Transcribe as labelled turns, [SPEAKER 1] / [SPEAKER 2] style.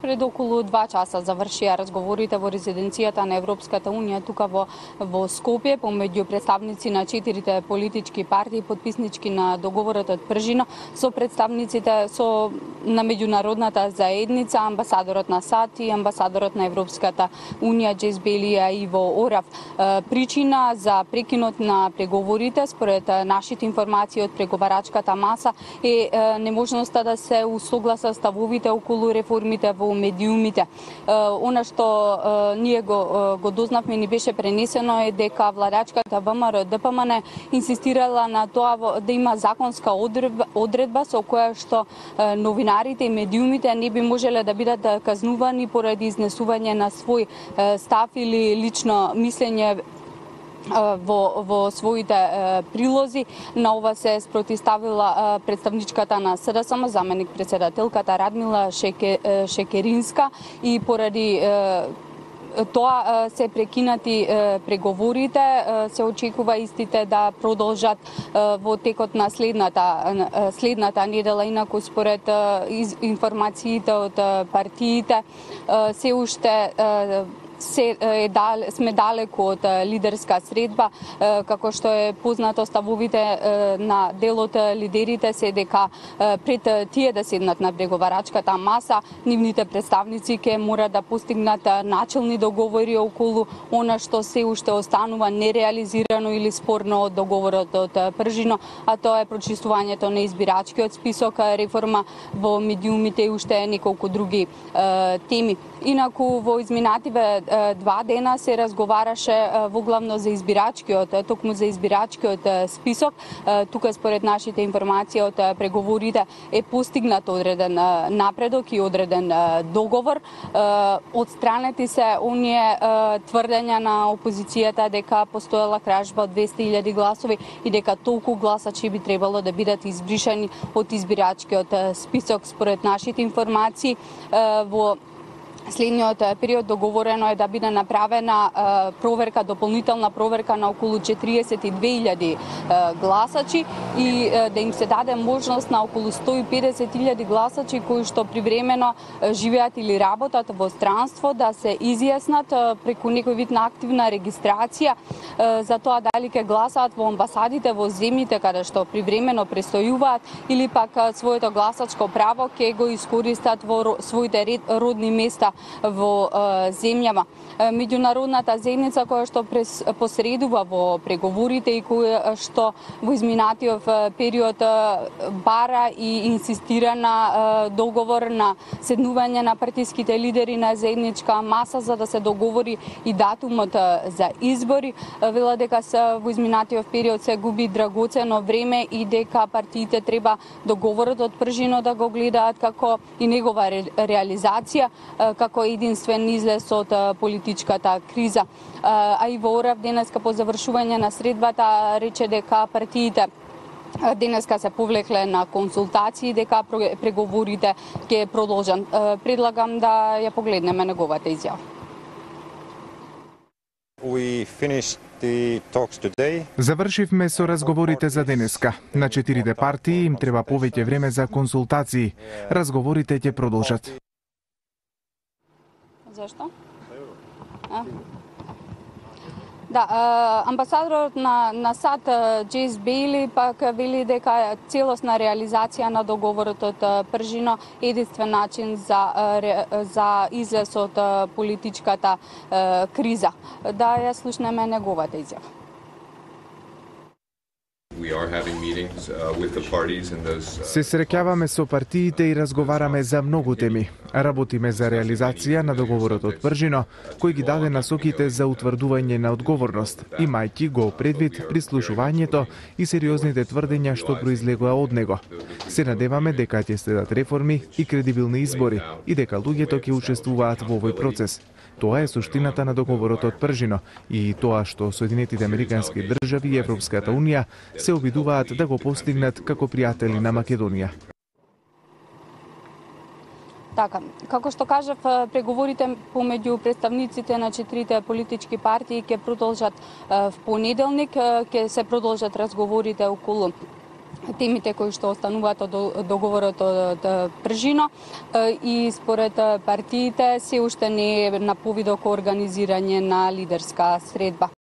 [SPEAKER 1] Пред околу 2 часа завршија разговорите во резиденцијата на Европската унија тука во Скопје помеѓу представници на 4 политички партии потписнички на договорот од Пржино со представниците на меѓународната заедница, амбасадорот на САД и амбасадорот на Европската унија Джейс Бейли и Иво Орав. Причина за прекинот на преговорите според нашите информации од преговарачката маса е неможноста да се усогласат ставовите околу реформите во медиумите. Она што ние го дознавме, ни беше пренесено е дека владачката ВМРО ДПМН инсистирала на тоа да има законска одредба со која што новинарите и медиумите не би можеле да бидат казнувани поради изнесување на свој став или лично мислење во своите прилози. На ова се спротивставила представничката на СДСМ, заменик председателката Радмила Шекеринска, и поради тоа се прекинати преговорите. Се очекува истите да продолжат во текот на следната недела. Инаку според информациите од партиите се уште сме далеку од лидерска средба. Како што е познато, ставовите на дел од лидерите се дека пред тие да седнат на преговарачката маса, нивните представници ќе мора да постигнат начелни договори околу она што се уште останува нереализирано или спорно од договорот од Пржино, а тоа е прочистувањето на избирачкиот список, реформа во медиумите и уште неколку други теми. Инаку во изминативе 2 дена се разговараше воглавно за токму за избирачкиот список. Тука според нашите информации од преговорите е постигнат одреден напредок и одреден договор. Отстранети се оние тврдења на опозицијата дека постоела кражба од 200.000 гласови и дека толку гласачи би требало да бидат избришани од избирачкиот список. Според нашите информации во следниот период договорено е да биде направена дополнителна проверка на околу 42.000 гласачи и да им се даде можност на околу 150.000 гласачи кои што привремено живеат или работат во странство да се изјаснат преку некој вид на активна регистрација за тоа дали ќе гласаат во амбасадите во земјите каде што привремено престојуваат или пак своето гласачко право ќе го искористат во своите родни места во земјава. Меѓународната заедница која што посредува во преговорите и која што во изминатиот период бара и инсистира на договор на седнување на партиските лидери на заедничка маса за да се договори и датумот за избори. Вела дека во изминатиот период се губи драгоцено време и дека партиите треба договорот од Пржино да го гледаат како и негова реализација, како единствен излез од политичката криза. А Иво Орав денеска по завршување на средбата рече дека партиите денеска се повлекле на консултации, дека преговорите ќе продолжат. Предлагам да ја погледнеме неговата изјава.
[SPEAKER 2] Завршивме со разговорите за денеска. На 4 партии им треба повеќе време за консултации. Разговорите ќе продолжат.
[SPEAKER 1] Зашто? Да, амбасадорот на САД Джейс Бейли пак вели дека целосна реализација на договорот од Пржино е единствен начин за излез од политичката криза. Да ја слушнеме неговата изјава.
[SPEAKER 2] Се среќаваме со партиите и разговараме за многу теми. Работиме за реализација на договорот од Пржино, кој ги даде насоките за утврдување на одговорност, имајќи го предвид прислушувањето и сериозните тврдења што произлегоа од него. Се надеваме дека ќе следат реформи и кредибилни избори и дека луѓето ќе учествуваат во овој процес. Тоа е суштината на договорот од Пржино и тоа што Соединетите Американски држави и Европската унија се обидуваат да го постигнат како пријатели на Македонија.
[SPEAKER 1] Така, како што кажав, преговорите помеѓу представниците на 4 политички партии ќе продолжат в понеделник, ќе се продолжат разговорите околу темите кои што остануваат од договорот од Пржино и според партиите се уште не е на повидок организирање на лидерска средба.